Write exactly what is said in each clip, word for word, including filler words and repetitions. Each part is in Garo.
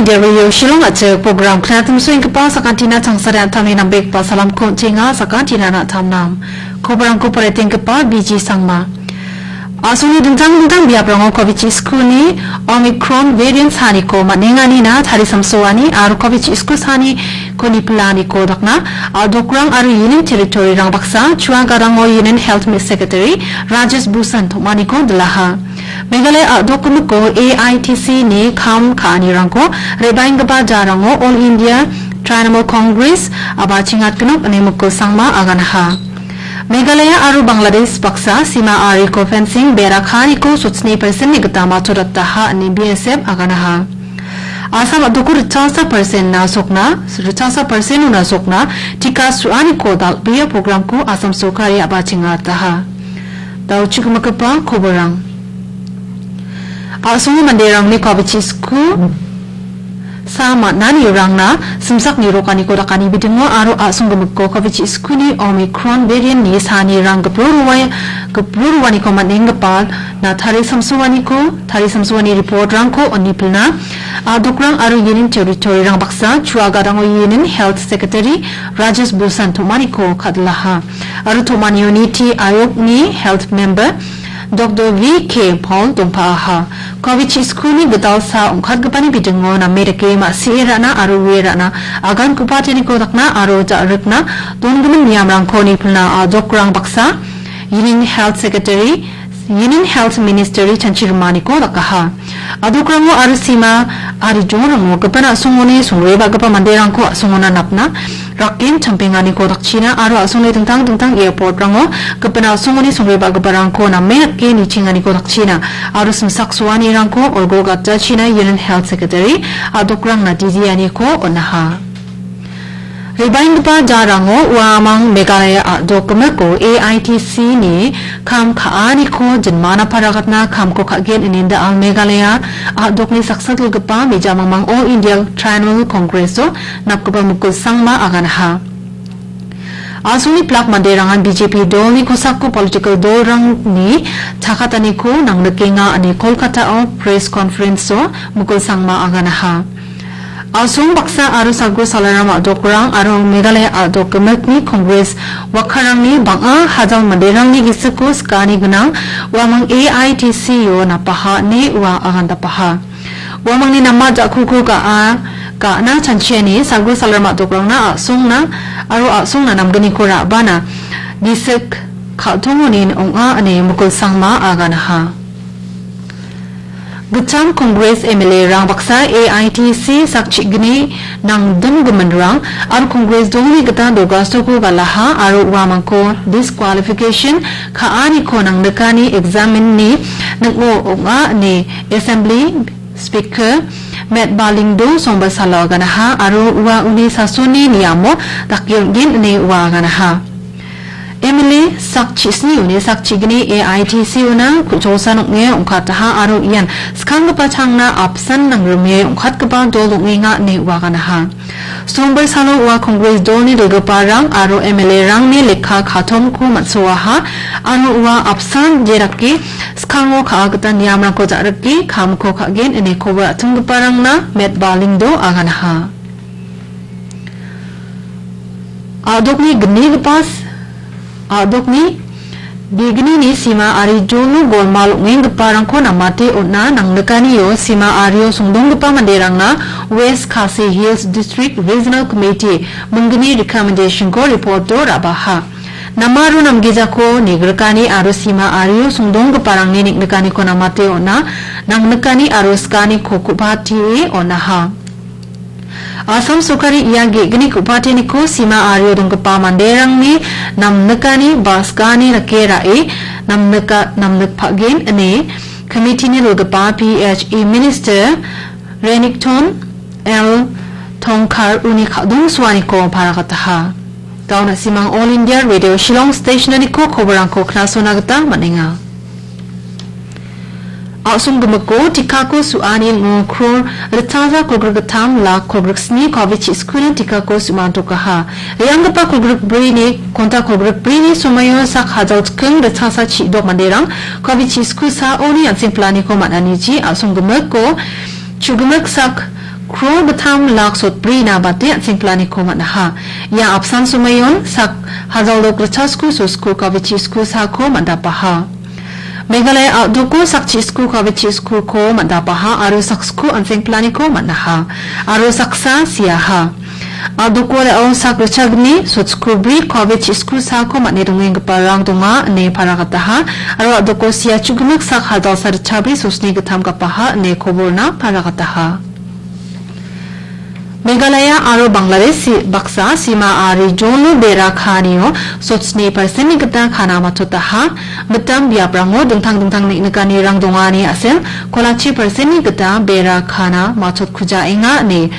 India Radio Shillong a·chik program knatimsoenggipa sakantina tangsare an·tangni nambegipa salamko on·chenga, sakantina na·tamnam. Koborangko paretenggipa B G Sangma. A·songni dingtang dingtang biaprango covid chi skulni Omicron variant saniko man·enganina tarisamsoani aro covid chi skul saniko nipilaniko dakna a·dokrang aro Union Territory-rang baksa chua gadango Union Health Secretary Rajesh Bhushan tom·aniko dilaha. Meghalaya a·dokgimiko A I T C ni kam ka·anirangko re·baenggipa jarango All India Trinamool Congress a·bachengatgnok ine Mukul Sangma aganaha. Meghalaya aro Bangladesh baksa sima ariko fencing bera ka·aniko sotsni percent-ni gita matchotataha ine B S F aganaha. Assam a·doko ritchasa percent-na sokna, ritchasa percent-ona sokna tika su·aniko dal·bea programko Assam sorkari a·bachengataha. Dauchigimigipa koborang. A·songo manderangni covid chi sku sa man·anirangna simsak nirokaniko dakani bidingo aro a·songgimiko covid chi skuni Omicron variant-ni sanirang gipro roa-, gipro roaniko man·enggipa na tarisamsoaniko, tarisamsoani report-rangko on·e pilna a·dokrang aro Union Territory-rang baksa chua gadango Union Health Secretary Rajesh Bhushan tom·aniko ka·dilaha. Aro tom·anio Niti Ayogni health member Doctor V K Paul dongpa·aha. Covid chi skuni gitalsa ong·katgipani bidingo name dake ma·sie ra·na aro ue ra·na agankoba teniko dakna aro ja·rikna dongimin niamrangko nipilna a·dokrang baksa Union Health Secretary, Union Health Ministry chanchi rimaniko dakaha. A·dokrango aro sima ari jongrango gipin a·songoni songreba·gipa manderangko a·songona napna rakken champenganiko dakchina aro a·songni dingtang dingtang airport-rango gipin a·songoni songreba·giparangko name rake nichenganiko dakchina aro simsak soanirangko olgo gatjachina Union Health Secretary a·dokrangna didianiko on·aha. Re·baenggipa jarango uamang Meghalaya a·dok gimiko A I T C ni kam ka·aniko jinmana paragatna kamko ka·gen ine da·al Meghalaya a·dokni saksa dilgipa mejamangmang All India Trinamool Congress-o napgipa Mukul Sangma aganaha. A·songni plak manderangan B J P dolni kosako political dolrangni chakataniko nangnikenga ine Kolkata-o press conference-o Mukul Sangma aganaha. A·song baksa aro Sagro Salaram a·dokrang aro Meghalaya a·dok gimikni Congress wakkarangni bang·a hajal manderangni gisiko sikani gnang uamang A I T C-o napaha ine ua agandapaha. Uamangni nama ja·kuko ga·a, ga·na chanchiani Sagro Salaram a·dokrangna a·songna aro a·songna namgniko ra·bana gisik ka·tongonin ong·a ine Mukul Sangma aganaha. Gitcham Congress M L A-rang baksa A I T C sak chi·gni nangdimgiminrang aro Congress dolni gita dogastoko galaha aro uamangko disqualification ka·aniko nangnikani examine-ni ning·o ong·a ine Assembly Speaker Met Balingdo Sombar salo aganaha aro ua uni sasoni niamo dake on·gen ine ua aganaha. M L A sak chisni uni sak chigni A I T C-ona ku·cholsa ong·e ong·kataha aro ian skanggipa changna apsan nangrime ong·katgipa dol ong·enga ine ua aganaha. Sombar salo ua Congress dolni dilgiparang aro M L A-rangni lekka katomko man·soaha aro ua apsan jerake skango ka·a gita niamrangko ja·rike kamko ka·gen ine koba a·tinggiparangna Met Balingdo aganaha. A·dokni gnigipa s-, a·dokni bignini sima ari jolo golmal ong·enggiparangko namate on·a nangnikanio sima ario songdonggipa manderangna West Khasi Hills District Regional Committee minggni recommendation-ko report-o ra·baha. Namaro namgijako nigrikani aro sima ario songdonggiparangni neng·nikaniko namate on·a nangnikani aro skaniko ku·patie on·aha. Assam sorkari ia ge·gni ku·pateniko sima ario donggipa manderangni namnikani ba skani rake ra·e namnika-, namnikpagen ine committee-ni dilgipa P H E Minister Renikton L Tongkar uni ka·dongsoaniko paragataha. Dauna Simang All India Radio Shillong Station-aniko koborangko knasona gita man·enga. A·song gimiko tikako su·ani ning·o kror ritchasa kolgrik gittam lak kolgrik sni covid chi skuna tikako su·mantokaha. Re·anggipa kolgrik brini, konta kolgrik brini somoio sak hajal chiking ritchasa chi·dok manderang covid chi sku saoni an·seng planiko man·aniji a·song gimiko chugimik sak Kro gittam lak sotbrina bate an·seng planiko man·aha. Ia apsan somoion sak hajalok ritchasku sosku kavichi sku sako man·dapaha. Meghalaya a·doko sak chisku kavichi skuko man·dapaha aro sak sku an·seng planiko man·aha. Aro saksa siaha. A·doko re·o sak ritchagni sotskubri kavichi sku sako man·e dongenggiparang donga ine paragataha. Aro a·doko sia chugimik sak hajalsa ritchabri sosni gittam gapaha ine koborna paragataha. Meghalaya aro Bangladesh si-, baksa sima ari jolo bera kanio sotsni persen-ni gita kana matchotaha. Mitam biaprango dingtang dingtang neng·nikanirang dongani a·sel kolachi persen-ni gita bera kana matchotkujaenga ine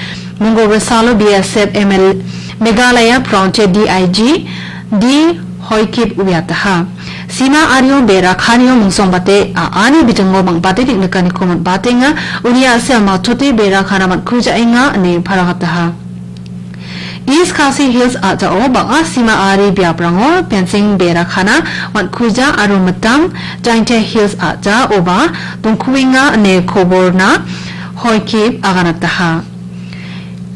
Mongol Resalo B S F M L Meghalaya Frontier D I G D Hoikip uiataha. Sima ario bera kanio mingsangbate a·ani bijingo bang·bate neng·nikaniko man·batenga. Uni a·sel matchote bera kana man·kujaenga ine paragataha. East Khasi Hills a·jao bang·a sima ari biaprango fencing bera kana man·kuja aro mitam Jaintia Hills a·jaoba dongkuenga ine koborna Hoikip aganataha.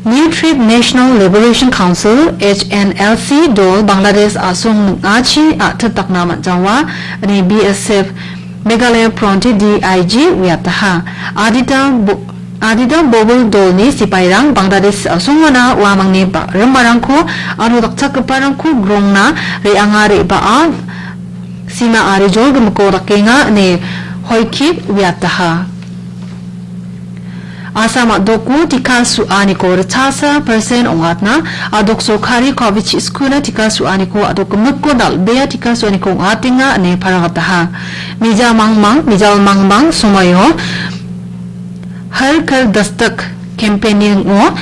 New Trib National Liberation Council, H N L C, dol Bangladesh a·song ning·achi a·tit dakna man·jawa ine B S F Meghalaya Frontier D I G uiataha. Adita bo-, adita bobol dolni sipairang Bangladesh a·songona uamangni ba-, rimarangko aro dakchakgiparangko grongna re·anga re·baa sima ari jolgimiko dakenga ine Hoikip uiataha. Assam a·doko tika su·aniko ritchasa persen ong·atna, a·dok sorkari kavichi skuna tika su·aniko a·dok gimikko dal·bea tika su·aniko ong·atenga ine paragataha. Mija mangmang, mijal mangmang somoio Har Ghar Dastak campaign-ni ning·o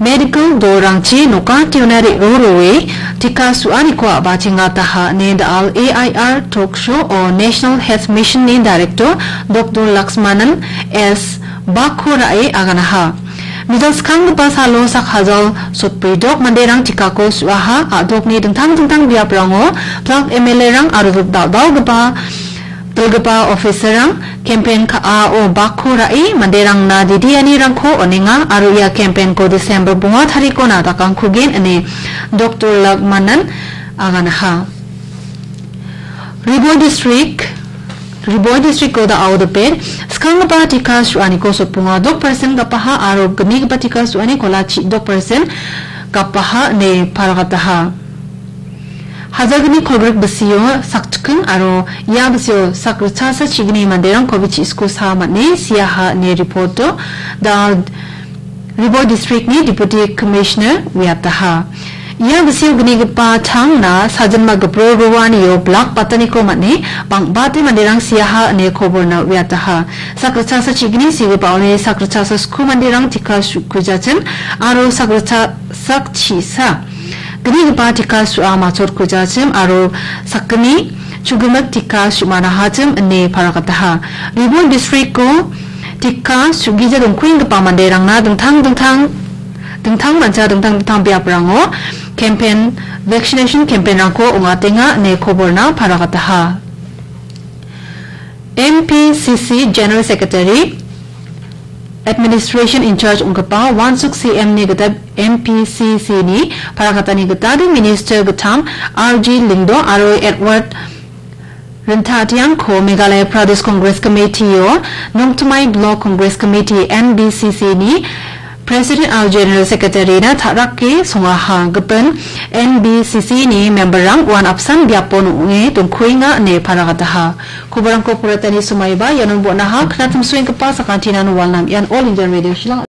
medical dolrangchi nokantiona re·roroe tika su·aniko a·bachengataha ine The All A I R Talk Show-o National Health Mission-ni Director Doctor Laxmanan S Bakho ra·e aganaha. Mijal skanggipa salo sak hajal sotbridok manderang tikako su·aha, a·dokni dingtang dingtang biaprango plak M L A-rang aro dal·dalgipa dilgipa officer-rang campaign ka·ao bakko ra·e manderangna didianirangko on·enga aro ia campaign-ko December bonga tarikona dakangkugen ine Doctor Laxmanan aganaha. Ri Bhoi District, Ri Bhoi District-o da·ao dipet skanggipa tika su·aniko sotbonga dok persen gapaha aro gnigipa tika su·ani kolachi dok persen gapaha ine paragataha. Hajalgni kolgrik bisio sakchiking aro ia bisio sak ritchasa chigni manderang covid chi·sku sa man·e siaha ine report-o da Ri Bhoi District-ni Deputy Commissioner uiataha. Ia bisio gnigipa tangna sajinma gipro roanio blak bataniko man·e bang·bate manderang siaha ine koborna uiataha. Sak ritchasa chigni sigipaoni sak ritchasa sku manderang tika su-, kujachim aro sak ritcha-, sak chisa gnigipa tika su·a machot kujachim aro sakgni chugimik tika su·manahachim ine paragataha. Ri Bhoi District-o tika su·gija dongkuenggipa manderangna dingtang dingtang, dingtang mancha dingtang dingtang biaprango campaign, vaccination campaign-rangko ong·atenga ine koborna paragataha. M P C C General Secretary, Administration in charge ong·gipa Wansuk C M-ni gita M P C C-ni paragitani gita Minister gittam R G Lyngdoh aro Edward Rinthatiangko Meghalaya Pradesh Congress Committee-o Nongthymmai Block Congress Committee, N B C C-ni President aro General Secretary-na ta·rake songaha. Gipin N B C C-ni member-rang uan apsan biapo ong·e dongkuenga ine paragataha. Koborangko poretani somaiba ianon bon·aha. Knatimsoenggipa sakantinan walnam ian All India Radio Shillong.